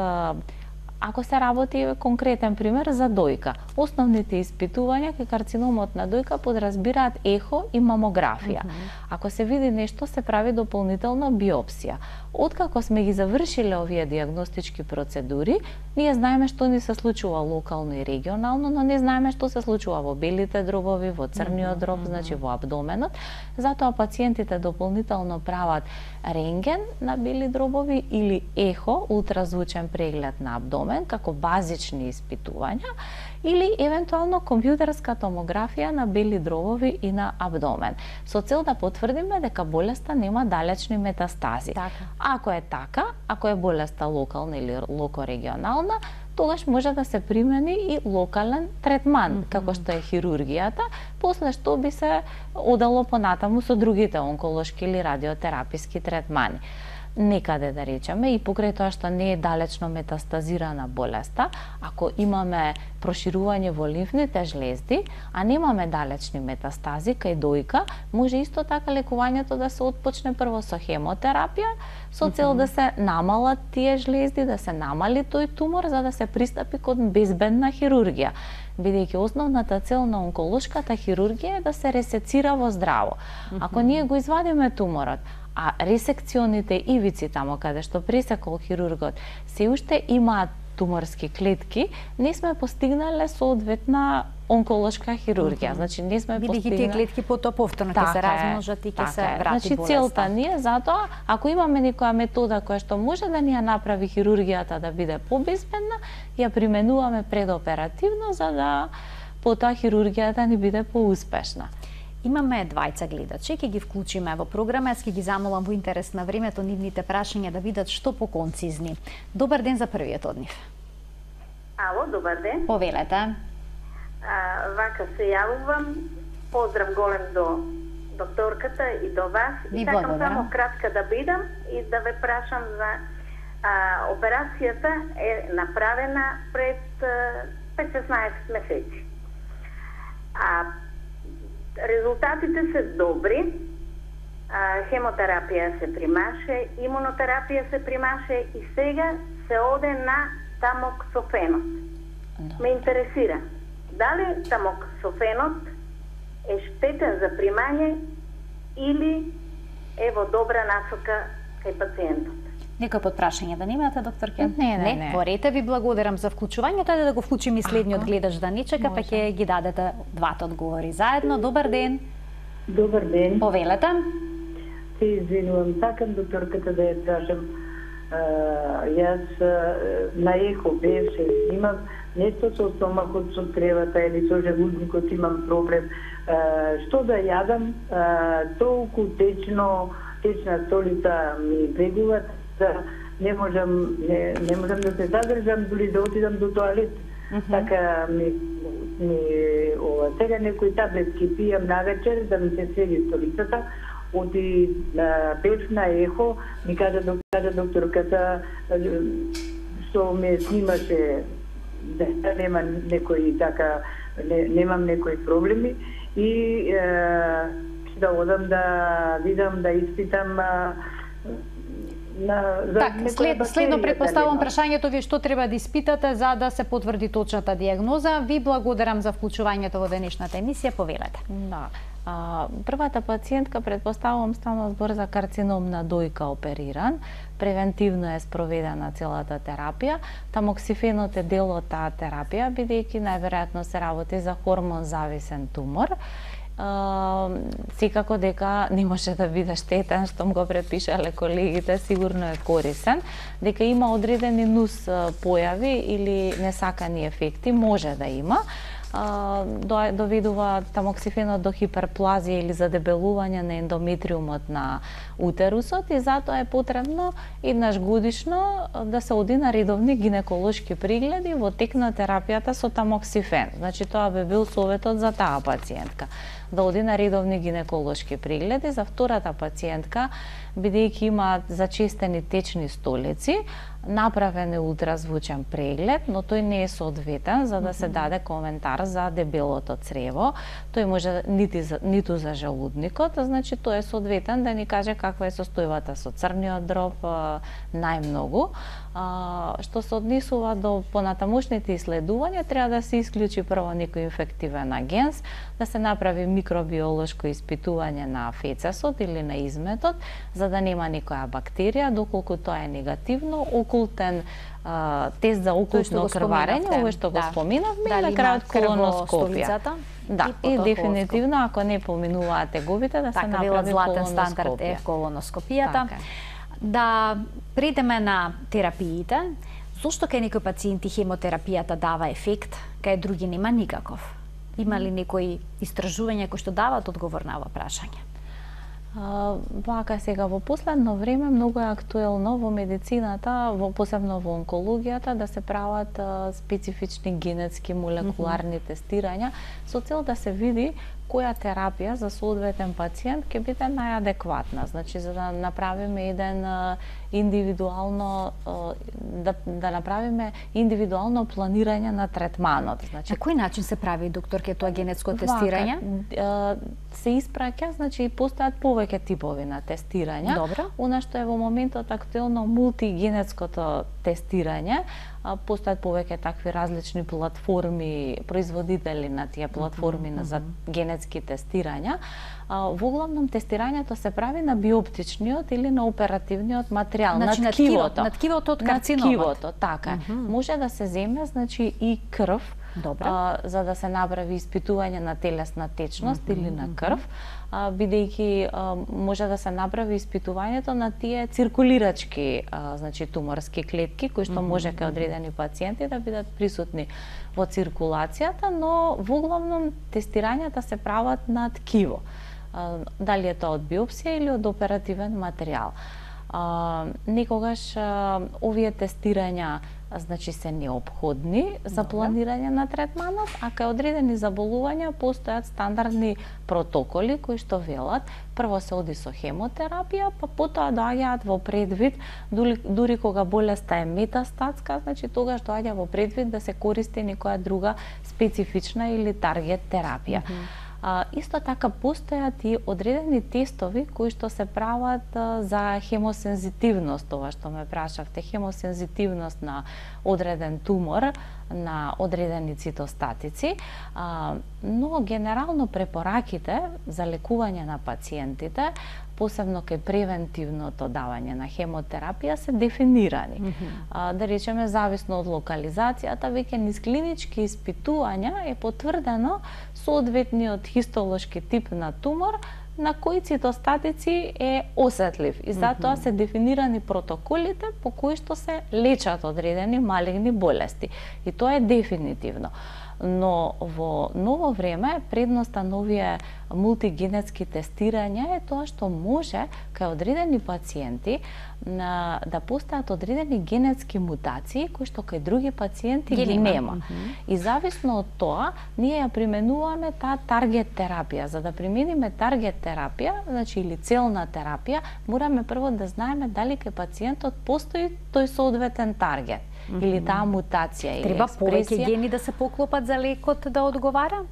ако се работи конкретен пример за дојка, основните испитувања кај карциномот на дојка подразбираат ехо и мамографија. Ако се види нешто, се прави дополнително биопсија. Откако сме ги завршиле овие дијагностички процедури, ние знаеме што ни се случува локално и регионално, но не знаеме што се случува во белите дробови, во црниот дроб, значи во абдоменот. Затоа пациентите дополнително прават рентген на бели дробови или ехо, ултразвучен преглед на абдомен, како базични испитувања, или евентуално компјутерска томографија на бели дробови и на абдомен, со цел да потврдиме дека болеста нема далечни метастази. Ако е така, ако е болеста локална или локорегионална, тогаш може да се примени и локален третман, како што е хирургијата, после што би се одало понатаму со другите онколошки или радиотераписки третмани. Некаде, да речеме, и покрај тоа што не е далечно метастазирана болеста, ако имаме проширување во лимфните жлезди, а немаме далечни метастази кај дојка, може исто така лекувањето да се отпочне прво со хемотерапија, со цел да се намалат тие жлезди, да се намали тој тумор, за да се пристапи кон безбедна хирургија. Бидејќи основната цел на онколошката хирургија е да се ресецира во здраво. Ако ние го извадиме туморот, а ресекционите ивици тамо каде што пресекол хирургот се уште имаат туморски клетки, не сме постигнале соодветна онколошка хирургија. Значи не сме постигнале. Бидејќи тие клетки потоа повторно ќе се размножат и ќе се врати болеста. Значи целта ни е затоа, ако имаме некоја метода која што може да ни ја направи хирургијата да биде побезбедна, ја применуваме предоперативно за да потоа хирургијата ни биде поуспешна. Имаме двајца гледачи, ќе ги вклучиме во програма, ќе ги замолам во интерес на времето нивните прашања да видат што поконцизни. Добар ден за првиот од нив. Ало, добар ден. Повелете. Вака се јавувам. Поздрав голем до докторката и до вас. Ви и сакам благодарам. само кратка да бидам и да ве прашам за операцијата е направена пред 15 месеци. Резултатите се добри, хемотерапија се примаше, имунотерапија се примаше и сега се оде на тамоксофенот. Ме интересира, дали тамоксофенот е штетен за примање или е во добра насока кај пациентот? Некој подпрашање да немате, доктор Кен? Не. Порете, ви благодарам за вклучувањето, ајде да го вклучиме и следниот гледач да не чека, па ќе ги дадете двата одговори заедно. Добар ден. Добар ден. Повелете. Се извинувам, сакам докторката да ја прашам. Јас на ехо беше снимав нешто со стомакот, со кревата или со жевузникот имам проблем. Што да јадам, толку течна столица ми бегуват, не можам да се задржам, дури да отидам до тоалет. Така сега некои таблетки пијам навечер да ми се сведи столицата. Оди бев на ехо, ми кажа докторката што ме снимаше да нема некои така, немам некои проблеми и да одам да видам, да испитам Следно предпоставам прашањето ви што треба да испитате за да се потврди точната дијагноза. Ви благодарам за вклучувањето во денешната емисија. Повелете. Да. Првата пациентка, предпоставувам, стана збор за карцином на дојка опериран. Превентивно е спроведена целата терапија. Тамоксифенот е дел од таа терапија, бидејќи најверојатно се работи за хормон зависен тумор. Секако дека не може да биде штетен, штом го препишале колегите, сигурно е корисен. Дека има одредени нус појави или несакани ефекти, може да има. доведува тамоксифенот до хиперплазија или задебелување на ендометриумот на утерусот и затоа е потребно еднаш годишно да се оди на редовни гинеколошки прегледи во тек на терапијата со тамоксифен. Значи тоа би бил советот за таа пациентка, да оди на редовни гинеколошки прегледи. За втората пациентка, бидејќи има зачестени течни столици, направен е ултразвучен преглед, но тој не е соодветен за да се даде коментар за дебелото црево. Тој може ниту за желудникот, значи тој е соодветен да ни каже каква е состојбата со црниот дроб најмногу. Што се однесува до понатамошните исследувања, треба да се исклучи прво некој инфективен агенс, да се направи микробиолошко испитување на фецесот или на изметот, за да нема никоја бактерија, доколку тоа е негативно, окултен тест за окултно крварење, ова што го споменавме, и на крајот колоноскопија. Да, и дефинитивно, ако не поминуваат тегобите, да се направи златен стандард е колоноскопијата. Да придеме на терапиите. Зошто кај некои пациенти хемотерапијата дава ефект, кај други нема никаков? Има ли некои истражувања кои што дават одговор на ова прашање? Вака сега во последно време многу е актуелно во медицината, посебно во онкологијата, да се прават специфични генетски молекуларни тестирања со цел да се види која терапија за соодветен пациент ќе биде најадекватна. Значи, за да направиме еден индивидуално да направиме индивидуално планирање на третманот. Значи, на кој начин се прави, докторке, тоа генетско тестирање? Се испраќа, значи постојат повеќе типови на тестирања. Добро. Она што е во моментот актуелно мултигенетското тестирање, постојат повеќе такви различни платформи, производители на тие платформи за генетски тестирања. Во главном тестирањето се прави на биоптичниот или на оперативниот материјал, значи, на ткивото. На ткивото од карциномот. На ткивото, така. Може да се земе, значи, и крв, за да се направи испитување на телесна течност или на крв, бидејќи може да се направи испитувањето на тие циркулирачки, значи туморски клетки, кои што може кај одредени пациенти да бидат присутни во циркулацијата, но во главном тестирањата се прават на ткиво. Дали е тоа од биопсија или од оперативен материјал. Некогаш овие тестирања значи се неопходни за планирање на третманот, а кај одредени заболувања постојат стандардни протоколи кои што велат прво се оди со хемотерапија, па потоа доаѓаат во предвид, дури кога болеста е метастатска, значи тогаш доаѓа во предвид да се користи некоја друга специфична или таргет терапија. Исто така постојат и одредени тестови кои што се прават за хемосензитивност, ова што ме прашавте, хемосензитивност на одреден тумор, на одредени цитостатици, но генерално препораките за лекување на пациентите, посебно кај превентивното давање на хемотерапија, се дефинирани. Да речеме, зависно од локализацијата, веќе низ клинички испитувања е потврдено соодветниот хистолошки тип на тумор на кои цитостатици е осетлив и затоа се дефинирани протоколите по кои што се лечат одредени малигни болести. И тоа е дефинитивно. Но во ново време предноста на овие мултигенетски тестирања е тоа што може кај одредени пациенти да постојат одредени генетски мутации кои што кај други пациенти ги нема. И зависно од тоа, ние ја применуваме таа таргет терапија. За да примениме таргет терапија, значи или целна терапија, мораме прво да знаеме дали кај пациентот постои тој соодветен таргет или таа мутација или треба повеќе гени да се поклопат за лекот да одговара?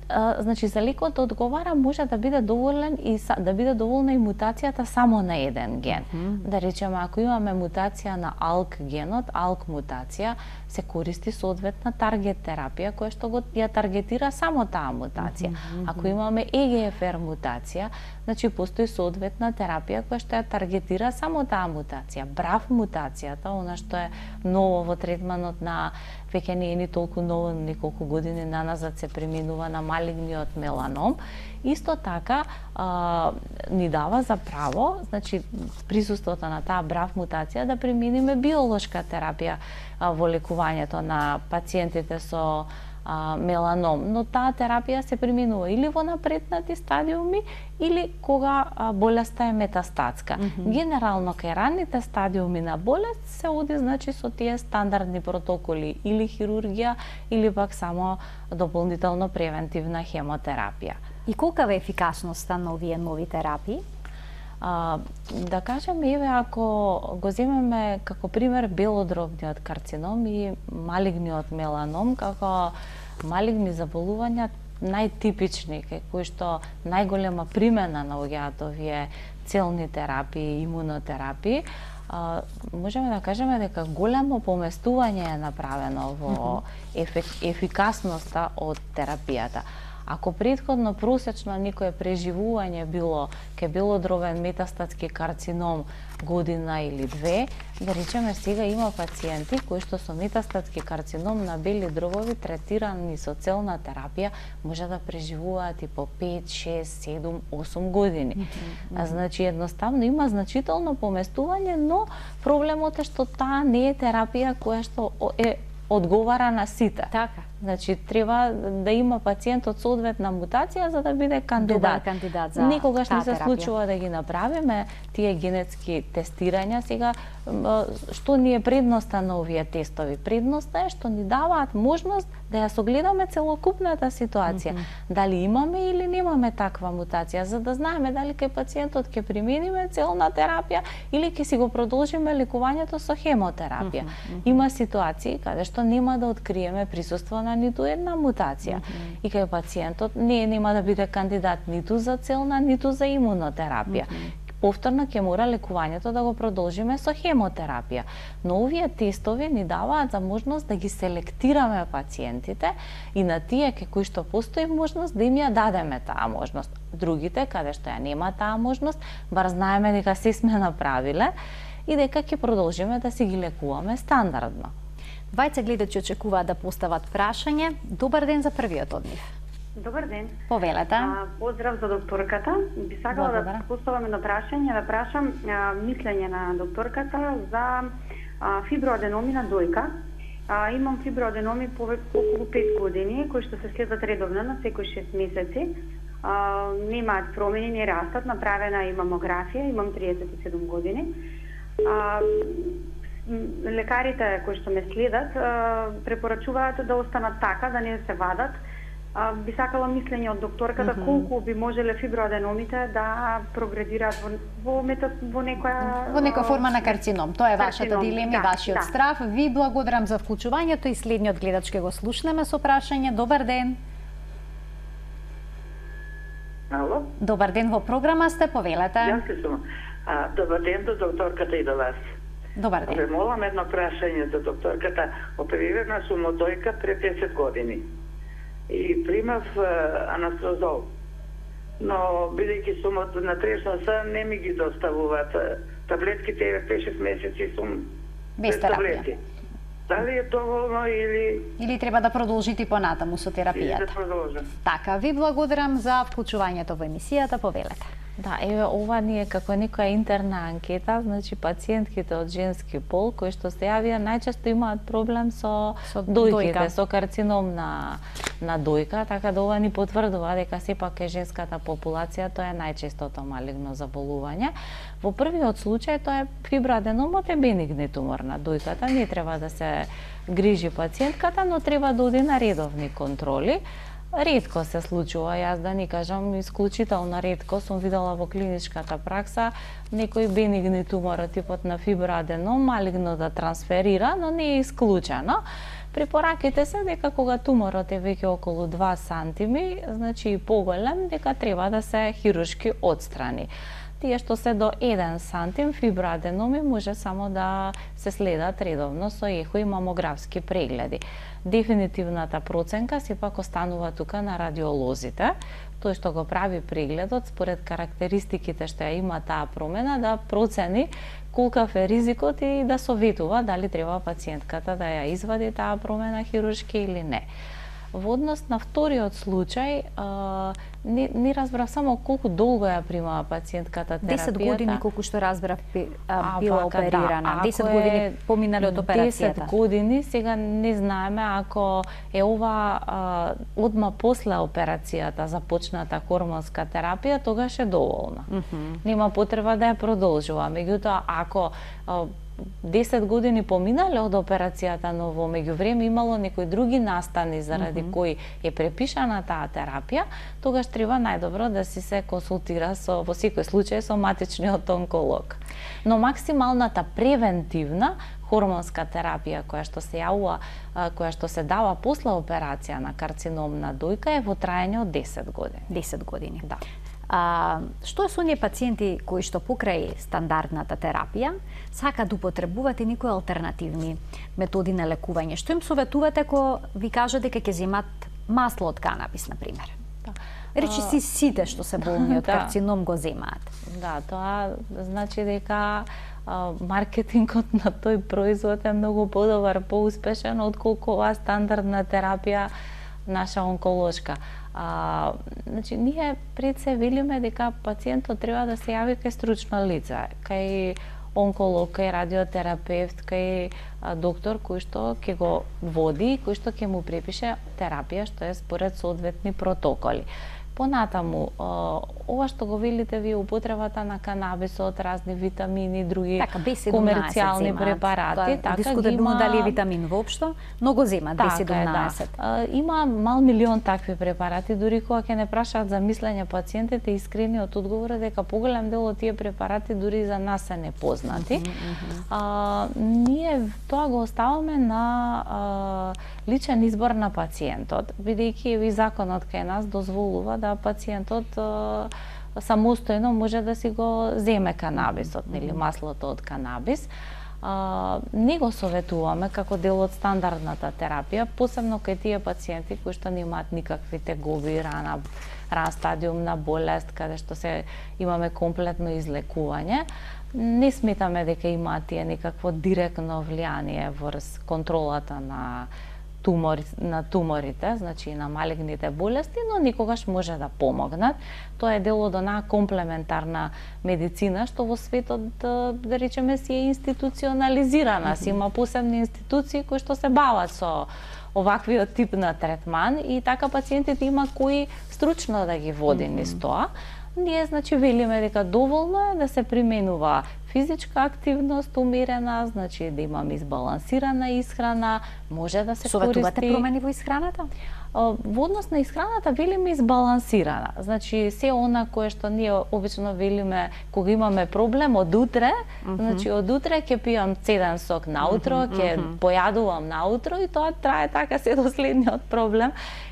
Значи за лекот да одговара може да биде доволен и да биде доволна и мутацијата само на еден ген. Да речеме, ако имаме мутација на ALK генот, ALK мутација, се користи соодветна таргет терапија која што ја таргетира само таа мутација. Ако имаме EGFR мутација, значи постои соодветна терапија која што ја таргетира само таа мутација. BRAF мутацијата, она што е ново во третманот на веќе не е ни толку ново, неколку години наназад се применува на малигниот меланом. Исто така ни дава за право, значи присуството на таа BRAF мутација да примениме биолошка терапија во лекувањето на пациентите со меланом, но таа терапија се применува или во напреднати стадиуми или кога болеста е метастатска. Генерално кај ранните стадиуми на болест се оди значи со тие стандардни протоколи или хирургија или пак само дополнително превентивна хемотерапија. И колкава е ефикасноста на овие нови терапии? Да кажем, еве, ако го земеме како пример белодробниот карцином и малигниот меланом, како малигни заболувања најтипични, кај кои што најголема примена наоѓаат овие целни терапии, имунотерапии, можеме да кажеме дека големо поместување е направено во ефикасноста од терапијата. Ако претходно просечно некое преживување било кај белодробен метастатски карцином година или две, да речеме сега има пациенти кои што со метастатски карцином на бели дробови третирани со целна терапија може да преживуваат и по 5, 6, 7, 8 години. Значи едноставно има значително поместување, но проблемот е што таа не е терапија која што одговара на сите. Така. Значи треба да има пациентот соодветна мутација за да биде кандидат. Добар кандидат за никогаш не се терапија. случува да ги направиме тие генетски тестирања. Сега што ни е предноста на овие тестови? Предноста е што ни даваат можност да ја согледаме целокупната ситуација. Дали имаме или немаме таква мутација, за да знаеме дали кај пациентот ќе примениме целна терапија или ќе си го продолжиме лекувањето со хемотерапија. Има ситуации каде што нема да откриеме присуство на ниту една мутација. И кај пациентот нема да биде кандидат ниту за целна, ниту за имунотерапија. Повторно ќе мора лекувањето да го продолжиме со хемотерапија. Но овие тестови ни даваат за можност да ги селектираме пациентите и на тие кај кои што постои можност да им ја дадеме таа можност. Другите каде што ја нема таа можност, бар знаеме дека се сме направиле и дека ќе продолжиме да си ги лекуваме стандардно. Двајца гледачи очекуваат да постават прашање. Добар ден за првиот од нив. Добар ден. Повелете. Поздрав за докторката. Би сакала да поставам едно прашање, да прашам мислење на докторката за фиброаденоми на дојка. Имам фиброаденоми околу 5 години, кои што се следат редовно на секој 6 месеци. Немаат промени, не растат, направена и мамографија, имам 37 години. Лекарите кои што ме следат препорачуваат да останат така, да не се вадат. Би сакала мислење од докторката колку би можеле фиброаденомите да прогредираат во некоја форма на карцином. Тоа е вашата дилема и вашиот страв. Ви благодарам за вклучувањето и следниот гледач ќе го слушнеме со прашање. Добар ден. Ало? Добар ден, во програма сте, повелете. Јас сум. Добар ден до докторката и до вас. Добар ден. Ве молам едно прашање за докторката. Оперирана сум од дојка пред 10 години и примав анастрозол. Но бидејќи сум од натрешноста, не ми ги доставуваат таблетките, 5-6 месеци сум без терапија. Дали е доволно или треба да продолжите понатаму со терапијата? Да продолжам. Така, ви благодарам за вклучувањето во емисијата, повелете. Да, еве ова ни е како некоја интерна анкета, значи пациентките од женски пол кои што се јавија најчесто имаат проблем со дојките, со карцином на дојка, така да ова ни потврдува дека сепак е женската популација, тоа е најчестото малигно заболување. Во првиот случај тоа е фиброаденомот е бенигни тумор на дојката, не треба да се грижи пациентката, но треба да оди на редовни контроли. Ретко се случува, јас да ни кажам, исклучително ретко сум видела во клиничката пракса некој бенигни тумор од типот на фиброаденом малигно да трансферира, но не е исклучено. Препораките се дека кога туморот е веќе околу 2 сантими, значи и поголем, дека треба да се хируршки отстрани. Тие што се до 1 сантим фиброаденоми може само да се следат редовно со ехо и мамографски прегледи. Дефинитивната проценка сепак останува тука на радиолозите. Тој што го прави прегледот, според карактеристиките што ја има таа промена, да процени колкав е ризикот и да советува дали треба пациентката да ја извади таа промена хируршки или не. Во однос на вториот случај, не разбрав само колку долго ја примава пациентката терапијата. 10 години, колку што разбрав, била оперирана. 10 години поминали од операцијата. 10 години, сега не знаеме ако е ова одма после операцијата започната хормонска терапија, тогаш е доволна. Нема потреба да ја продолжува. Меѓутоа, ако 10 години поминале од операцијата, но во меѓувреме имало некои други настани заради кои е препишана таа терапија, тогаш треба најдобро да си се консултира во секој случај со матичниот онколог. Но максималната превентивна хормонска терапија која што се јавува, која што се дава после операција на карцином на дојка е во траење од 10 години. 10 години. Да. Што е со оние пациенти кои што покрај стандардната терапија сакаат да употребуваат и некои алтернативни методи на лекување? Што им советувате ако ви кажат дека ќе земат масло од канабис, на пример? Да. Речи си сите што се болни од карцином го земаат. Да, тоа значи дека маркетингот на тој производ е многу подобар, поуспешен отколку оваа стандардна терапија наша онколошка. Значи, ние пред се велиме дека пациентот треба да се јави кај стручно лице, кај онколог, кај радиотерапевт, кај доктор кој што ќе го води, кој што ќе му препише терапија што е според соодветни протоколи. Понатаму, ова што го велите вие, употребата на канабисот, разни витамини, други комерцијални препарати, дискутабилно дали е витамин воопшто, но го земат B17. Има мал милион такви препарати, дури кога ќе не прашаат за мислење пациентите, искрениот одговор е дека поголем дел од тие препарати дури за нас се непознати. Ние тоа го оставаме на личен избор на пациентот, бидејќи и законот кај нас дозволува да пациентот самостојно може да си го земе канабисот или маслото од канабис. Не го советуваме како дел од стандардната терапија, посебно кај тие пациенти кои што немаат никакви тегоби, ран стадиум на болест, каде што се имаме комплетно излекување. Не сметаме дека имаат тие некакво директно влијание врз контролата на туморите, значи на малигните болести, но никогаш може да помогнат. Тоа е дел од онаа комплементарна медицина што во светот, да речеме, си е институционализирана, си има посебни институции кои што се бават со оваквиот тип на третман и така пациентите има кои стручно да ги води низ тоа. Ние, значи, велиме дека доволно е да се применува физичка активност умерена, значи да имаме избалансирана исхрана, може да се советувате промени во исхраната? Во однос на исхраната велиме избалансирана. Значи се она кое што ние обично велиме кога имаме проблем од утре, значи од утре ќе пијам цеден сок наутро, ќе појадувам наутро и тоа трае така се до следниот проблем.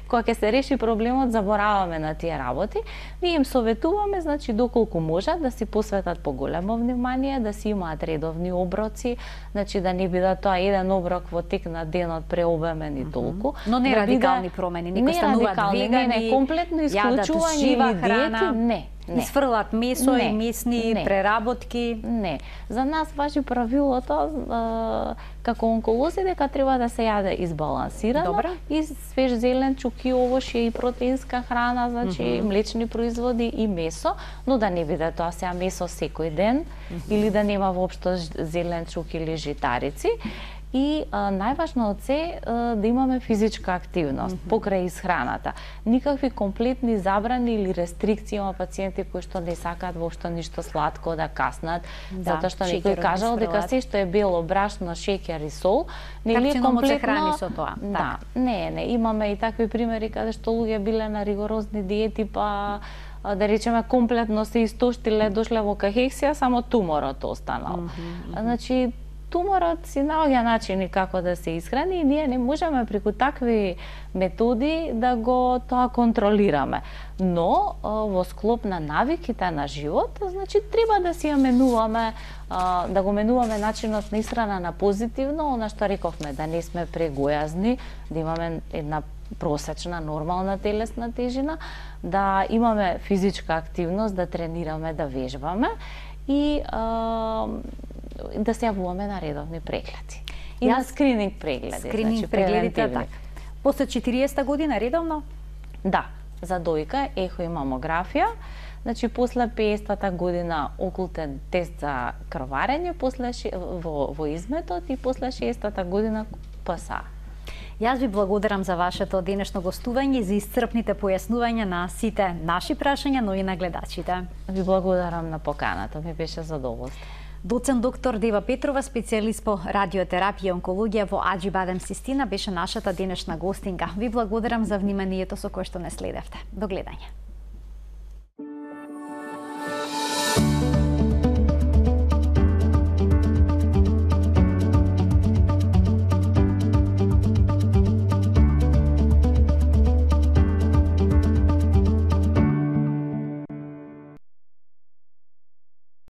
Кога ќе се реши проблемот, забораваме на тие работи. Ние им советуваме, значи, доколку можат да си посветат поголемо внимание, да си имаат редовни оброци, значи да не бидат тоа еден оброк во тек на денот преобемен и толку. Но не радикални промени, некои стануваат вегани, не комплетно исклучување или диети, не. Изфрлат месо и месни преработки. Не. За нас важи правилото како онколози дека треба да се јаде избалансирано и свеж зелен, чуки, овошје и протеинска храна, значи млечни производи и месо, но да не биде тоа сега месо секој ден или да нема воопшто зелен, чук или житарици. И најважно од се да имаме физичка активност покрај исхраната. Никакви комплетни забрани или рестрикции има пациенти кои што не сакаат воопшто ништо сладко да каснат, затоа што некој кажал дека се што е бело, брашно, шеќер и сол, нели е комплетно храни со тоа. Да, не, имаме и такви примери каде што луѓе биле на ригорозни диети, па да речеме комплетно се истоштиле, дошле во кахексија, само туморот останал. Значи туморот си наоѓа начини како да се исхрани и ние не можеме преку такви методи да го тоа контролираме. Но во склоп на навиките на живот, значи треба да си ја менуваме, да го менуваме начинот на исхрана на позитивно, она што рековме, да не сме прегојазни, да имаме една просечна нормална телесна тежина, да имаме физичка активност, да тренираме, да вежбаме и да се јавуваме на редовни прегледи. И на скрининг прегледи. Скрининг прегледите, така. После 40-та година редовно? Да, за дојка, ехо и мамографија. Значи, после 50-та година окултен тест за крварење, после во изметот и после 60-та година ПСА. Јас ви благодарам за вашето денешно гостување и за исцрпните појаснувања на сите наши прашања, но и на гледачите. Ви благодарам на поканата, ми беше задоволство. Доцент доктор Дева Петрова, специјалист по радиотерапија и онкологија во Аџибадем Систина, беше нашата денешна гостинка. Ви благодарам за вниманието со кое што не следевте. До гледање.